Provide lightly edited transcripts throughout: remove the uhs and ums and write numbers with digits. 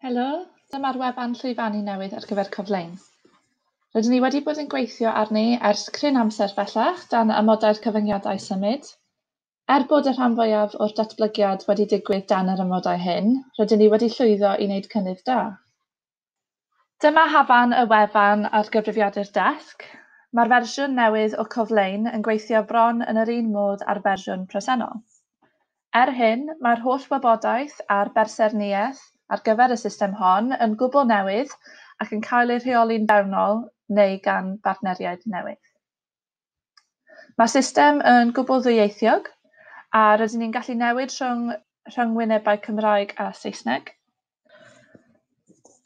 Helo, dyma'r wefan llwyfannu newydd ar gyfer Coflein. Rydyn ni wedi bod yn gweithio arni ers cryn amser bellach dan amodau'r cyfyngiadau symud. Er bod y rhan fwyaf o'r datblygiad wedi digwydd dan yr amodau hyn, rydyn ni wedi llwyddo i wneud cynnydd da. Dyma hafan y wefan ar gyfrifiadur desg. Mae'r fersiwn newydd o Coflein yn gweithio bron yn yr un modd â'r fersiwn presennol. Er hyn, mae'r holl wybodaeth a'r berserniaeth ar gyfer y system hon yn gwbl newydd ac yn cael ei rheoli'n fewnol neu gan bartneriaid newydd. Mae'r system yn gwbl ddwyieithiog a rydyn ni'n gallu newid rhwng rhyngwynebau Cymraeg a Saesneg.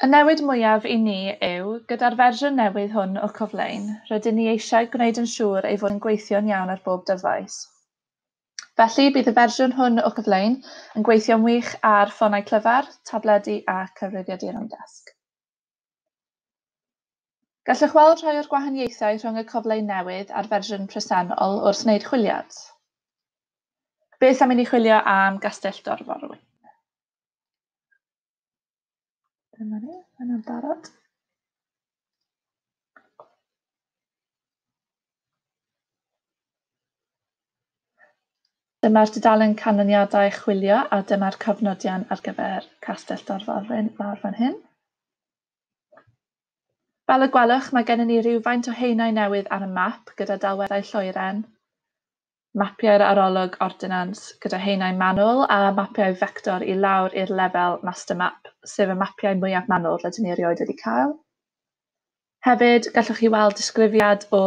Y newid mwyaf i ni yw, gyda'r fersiwn newydd hwn o Coflein, rydyn ni eisiau gwneud yn siŵr ei fod yn gweithio'n iawn ar bob dyfais. Felly, bydd y fersiwn hwn o Coflein yn gweithio'n wych ar ffonau clyfar, tabledi a cyfrifiaduron desg. Gallwch weld rhai o'r gwahaniaethau rhwng y Coflein newydd a'r fersiwn presennol wrth wneud chwiliad. Beth am i ni chwilio am Gastell Dorforwyn? Dyma ni, yna'n barod. Dyma'r dudalen canlyniadau chwilio a dyma'r cofnodion ar gyfer Castell Dorforwyn lawr fan hyn. Fel y gwelwch, mae gennym ni rywfaint o haenau newydd ar y map gyda delweddau lloeren, mapiau'r arolwg ordinans gyda haenau manwl a mapiau fector i lawr i'r lefel master map, sef y mapiau mwyaf manwl rydyn ni erioed wedi cael. Hefyd, gallwch chi weld disgrifiad o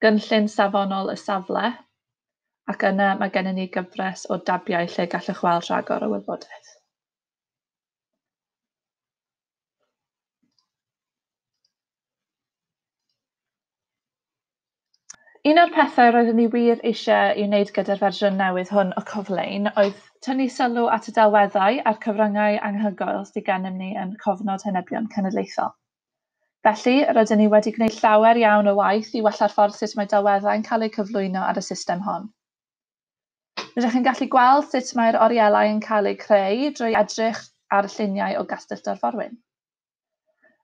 gynllun safonol y safle, ac yna mae gennym ni gyfres o dabiau lle gallwch weld rhagor o wybodaeth. Un o'r pethau roeddwn i wir eisiau ei wneud gyda'r fersiwn newydd hwn o Coflein oedd tynnu sylw at y delweddau a'r cyfryngau anhygoel sydd gennym ni yn Cofnod Henebion Cenedlaethol. Felly, rydyn ni wedi gwneud llawer iawn o waith i wella'r ffordd sut mae delweddau'n cael eu cyflwyno ar y system hon. Rydych chi'n gallu gweld sut mae'r orielau yn cael eu creu drwy edrych ar y lluniau o Gastell Dorforwyn.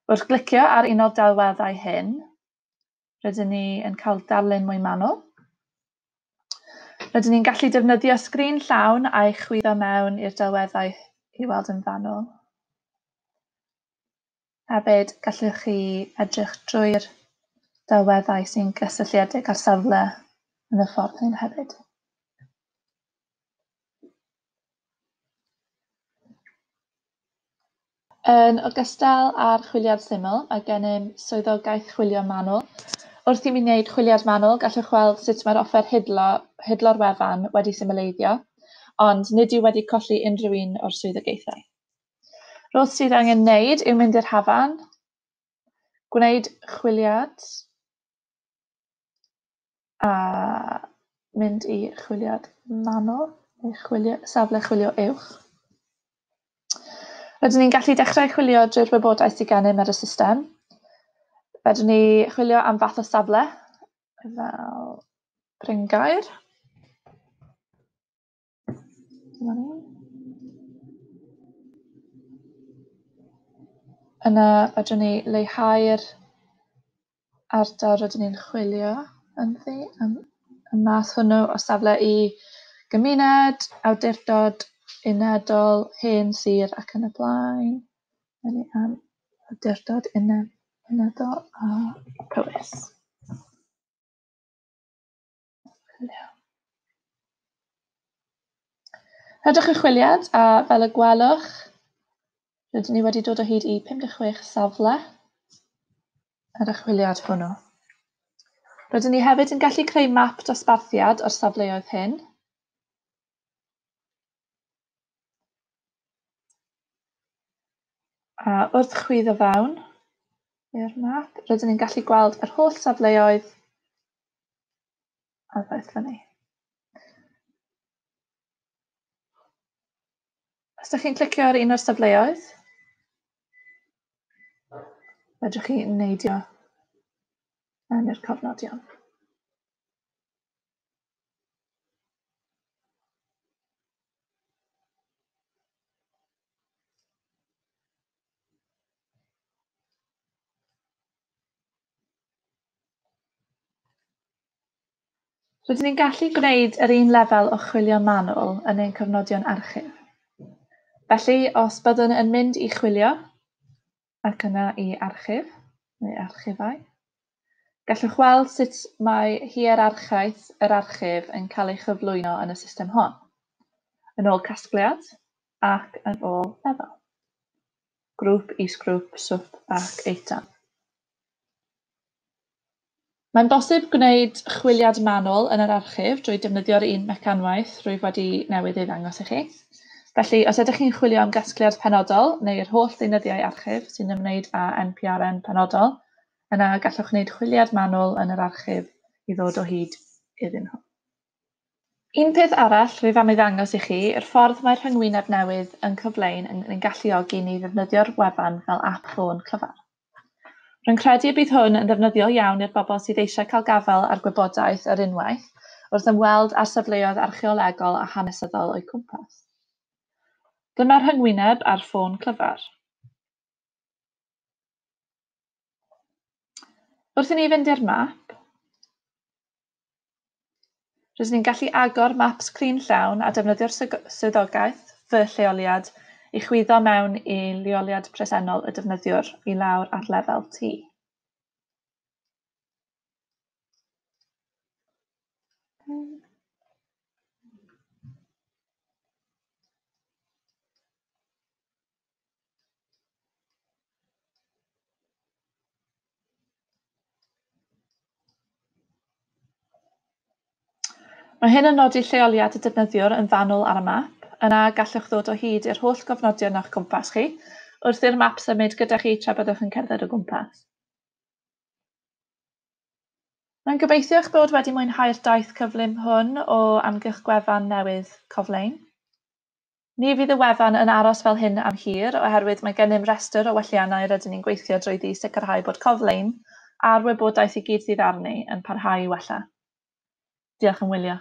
Wrth glicio ar un o'r delweddau hyn, rydyn ni yn cael darlun mwy manwl. Rydyn ni'n gallu defnyddio sgrin llawn a'i chwyddo mewn i'r delweddau i weld yn fanwl. Hefyd, gallwch chi edrych drwy'r delweddau sy'n gysylltiedig â'r safle yn y ffordd hyn hefyd. Yn ogystal â'r chwiliad syml, mae gennym swyddogaeth chwilio manwl. Wrth i mi wneud chwiliad manwl, gallwch weld sut mae'r offer hidlo'r wefan wedi symleiddio, ond nid yw wedi colli unrhyw un o'r swyddogaethau. Roedd sydd angen wneud yw mynd i'r hafan, gwneud chwiliad, a mynd i chwiliad manwl, neu chwilio, safle chwilio uwch. Rydyn ni'n gallu dechrau chwilio drwy'r wybodaeth sydd gennym ar y system. Fedrwn ni chwilio am fath o safle, fel bryngaer. Dyma ni. Yna fedrwn ni leihau'r ardal rydyn ni'n chwilio ynddi, am y math hwnnw o safle i gymuned, awdurdod, unedol, hen sir ac yn y blaen. Ni am awdurdod unedol a Powys. Chwilio. Rhedwch y chwiliad a fel y gwelwch, rydyn ni wedi dod o hyd i 56 safle ar y chwiliad hwnnw. Rydyn ni hefyd yn gallu creu map dosbarthiad o'r safleoedd hyn. A wrth chwyddo fewn i'r map, rydyn ni'n gallu gweld yr holl safleoedd a ddaeth fyny. Os ydych chi'n clicio ar un o'r safleoedd, fedrwch chi neidio mewn i'r cofnodion. Rydyn ni'n gallu gwneud yr un lefel o chwilio manwl yn ein cofnodion archif. Felly, os byddwn yn mynd i chwilio ac yna i archif neu archifau, gallwch weld sut mae hierarchaeth yr archif yn cael ei chyflwyno yn y system hon, yn ôl casgliad ac yn ôl lefel. Grŵp, is-grŵp, swp ac eitem. Mae'n bosib gwneud chwiliad manwl yn yr archif drwy defnyddio'r un mecanwaith rwyf wedi newydd ei ddangos i chi. Felly, os ydych chi'n chwilio am gasgliad penodol neu'r holl ddeunyddiau archif sy'n ymwneud â NPRN penodol, yna gallwch wneud chwiliad manwl yn yr archif i ddod o hyd iddyn nhw. Un peth arall rwyf am ei ddangos i chi yw'r ffordd mae'r rhyngwyneb newydd yn Coflein yn ein galluogi ni ddefnyddio'r wefan fel ap ffôn clyfar. Rwy'n credu y bydd hwn yn ddefnyddiol iawn i'r bobl sydd eisiau cael gafael ar gwybodaeth ar unwaith wrth ymweld â'r safleoedd archeolegol a hanesyddol o'u cwmpas. Dyma'r rhyngwyneb ar ffôn clyfar. Wrth i ni fynd i'r map, rydyn ni'n gallu agor map sgrin llawn a defnyddio'r swyddogaeth fy lleoliad i chwyddo mewn i leoliad presennol y defnyddiwr i lawr ar lefel T. Mae hyn yn nodi lleoliad y defnyddiwr yn fanwl ar y map. Yna gallwch ddod o hyd i'r holl gofnodion o'ch cwmpas chi wrth i'r map symud gyda chi tra byddwch yn cerdded o gwmpas. Rwy'n gobeithio eich bod wedi mwynhau'r daith cyflym hwn o amgylch gwefan newydd Coflein. Ni fydd y wefan yn aros fel hyn am hir oherwydd mae gennym restr o welliannau rydyn ni'n gweithio drwyddi i sicrhau bod Coflein a'r wybodaeth i gyd sydd arni yn parhau i wella. Diolch am wylio.